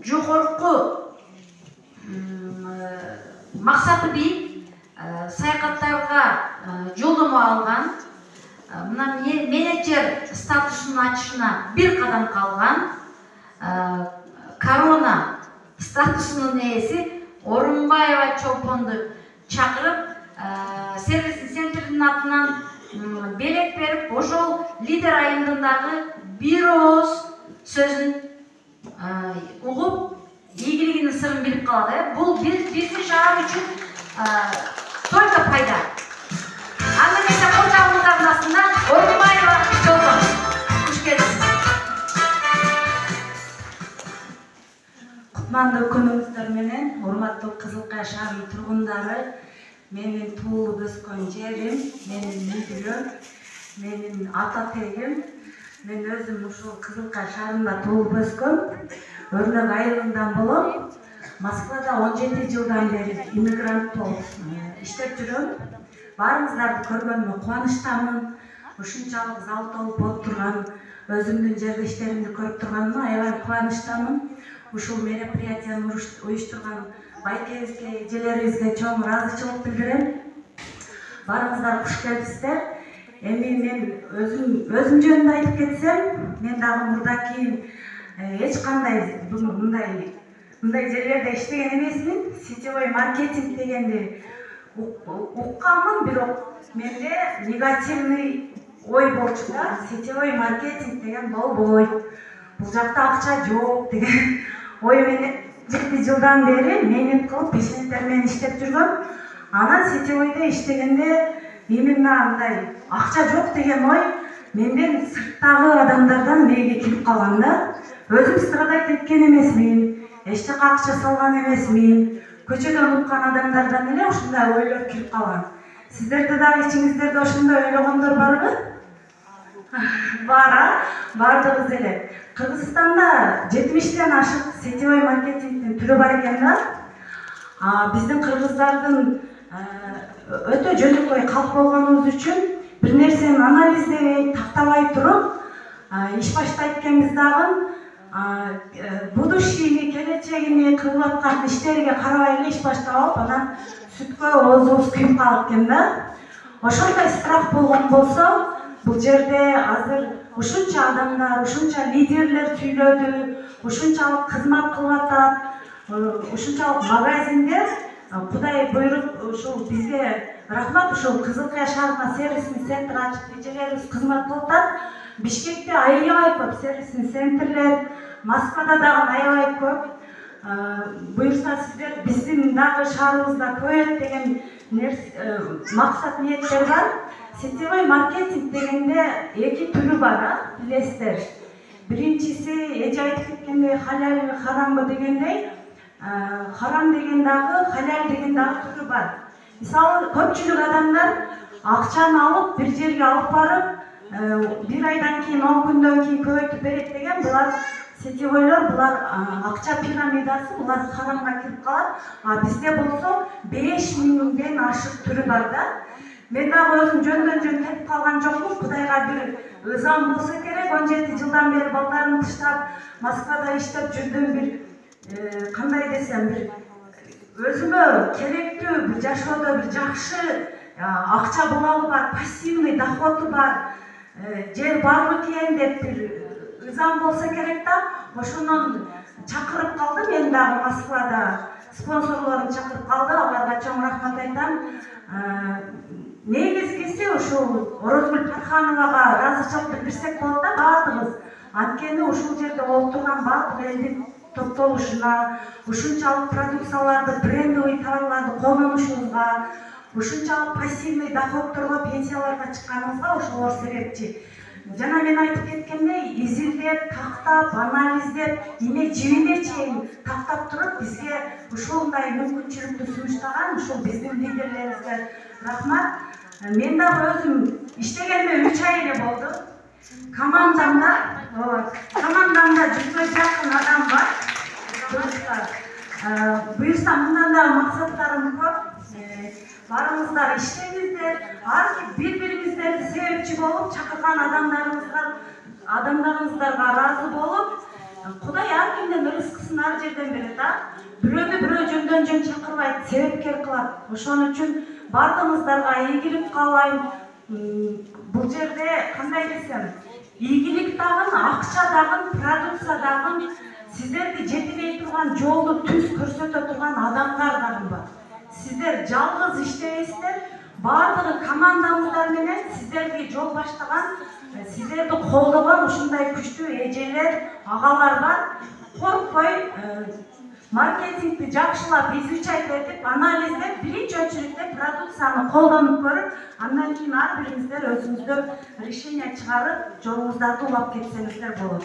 жогорку максаты бийик саякаттарга жолдомо алган, мына менеджер статусунун ачышына бир кадам калган, корона статусунун ээси Орунбаева Чолпонду чакырып, сервис центрдин атынан белек берип, ошол лидер айымдындагы бир ооз сөзүн угуп, ийгилигинин сырын билип калат. Бул биздин шаар үчүн только пайда. Анда эмесе кожогуңуздун астынан Орунбаева Чолпон. Куш келипсиз. Кутмандуу күнүңүздөр менен, урматтуу Кызылкая шаарынын тургундары, менин туулуп өскөн жерим, менин үйдүм, менин ата тегим. Мен өзүм ушул Кызылкая шаарында туулуп өскөм. Өрнөк айылынан болом. Москвада 17 жылдан бери иммигрант болуп иштеп жүрөм. Баарыңыздарды көргөнүмө кубанычтамын. Ушунчалык зал толуп отурган, өзүмдүн жерлештеримди көрүп турганыма аябай кубанычтамын. Ушул мероприятияны уюштурган байкебизге, эжелерибизге чоң ыраазычылык билдирем. Баарыңыздар куш келипсиздер. Эми мен өзүм жөнүндө айтып кетсем, мен дагы мурда кийин эч кандай мындай жерлерде иштеген эмесмин. Сетевой маркетинг дегенди укканмын, бирок менде негативный ой болчу да. Сетевой маркетинг деген болбойт, бул жакта акча жок деген ой менен 7 жылдан бери мээнет кылып пешенеттер менен иштеп жүргөм. Анан сетевойдо иштегенде именно андай акча жок деген ой менден сырттагы адамдардан мээге келип калган да. Өзүм страдать эткен эмесмин, эч жака акча салган эмесмин. Көчөдөн уккан адамдардан эле ушундай ойлор келип калган. Сиздерде дагы ичиңиздерде ошондой ойлогондор барбы? Бар, бардыгыбыз эле. Кыргызстанда 70тен ашык сетевой маркетингдин түрү бар экен да. Биздин кыргыздардын өтө жөнөкөй калк болгонубуз үчүн бир нерсени анализдебей, тактабай туруп иш баштайт экенбиз дагы. Будущийни, келечегини, кылып аткан иштериге карабай эле иш баштап алып, анан сүткө оозубуз күйүп калат экен да. Ошондой страх болгон болсо, бул жерде азыр ушунча адамдар, ушунча лидерлер сүйлөдү, ушунчалык кызмат кылып атат, ушунчалык магазиндер, Кудай буйруп ушул бизге рахмат, ушул Кызылкая шаарына сервисный центр ачып, эжелерибиз кызмат кылып атат. Бишкекте аябай көп сервисный центрлер, Москвада дагы аябай көп. Буюрса сиздер биздин дагы шаарыбызда көбөйөт деген максат ниеттер бар. Сетевой маркетинг дегенде эки түрү бар, билесиздер. Биринчиси эже айтып кеткендей халал харамбы дегендей, харам деген дагы, халал деген дагы түрү бар. Мисалы, көпчүлүк адамдар акчаны алып бир жерге алып барып, бир айдан кийин, 10 күндөн кийин көбөйтүп берет деген, булар сетевойлор, булар акча пирамидасы, булар харамга кирип калат. Бизде болсо 5000ден ашык түрү бар да. Мен дагы өзүм жөндөн кетип калган жокмун. Кудайга бир ызам болсо керек. 17 жылдан бери балдарымды таштап, Москвада иштеп жүрдүм. Бир кандай десем, бир өзүмө керектүү, бир жашоодо бир жакшы акча булагы бар, пассивный доходу бар, жер бар бекен деп бир ызам болсо керек да. Ошондон чакырып калды, мен дагы Москвада спонсорлорун чакырып калды. Аларга чоң рахмат айтам. Негизгиси ушул Орозгүл Тархановага ыраазычылык билдирсек болот да, баардыгыбыз. Анткени ушул жерде отурган баардык элдин топтолушуна, ушунчалык продукцияларды, брендовый товарларды колдонушубузга, ушунчалык пассивный доходторго, пенсияларга чыкканыбызга ошолор себепчи. Жана мен айтып кеткендей, изилдеп, тактап, анализдеп, эме жибине чейин тактап туруп, бизге ушундай мүмкүнчүлүктү сунуштаган ушул биздин лидерлерибизге рахмат. Мен дагы өзүм иштегениме 3 ай эле болду. Командамда 100 жакын адам бар. Буюрса мындан дагы максаттарым көп. Барыңыздар иштеңиздер, бири-бириңиздерди себепчи болуп, чакырган адамдарыңыздарга ыраазы болуп, Кудай ар кимдин рызкысын ар жерден берет, бирөөдү бирөө жөндөн жөн чакырбайт, себепкер кылат. Ошон үчүн бардыгыңыздарга ийгилик каалайм. Бул жерде кандай десем, ийгилик дагы, акча дагы, продукция дагы, сиздерди жетелей турган жолду түз көрсөтө турган адамдар дагы бар. Сиздер жалгыз иштебейсиздер, бардыгы командаңыздар менен сиздерди жол баштаган, сиздерди колдогон ушундай күчтүү эжелер, агалар бар. Коркпой, маркетингди жакшылап изучать этип, анализдеп, биринчи очередде продукцияны колдонуп көрүп, андан кийин ар бириңиздер өзүңүздөр решение чыгарып, жолуңуздарды улап кетсеңиздер болот.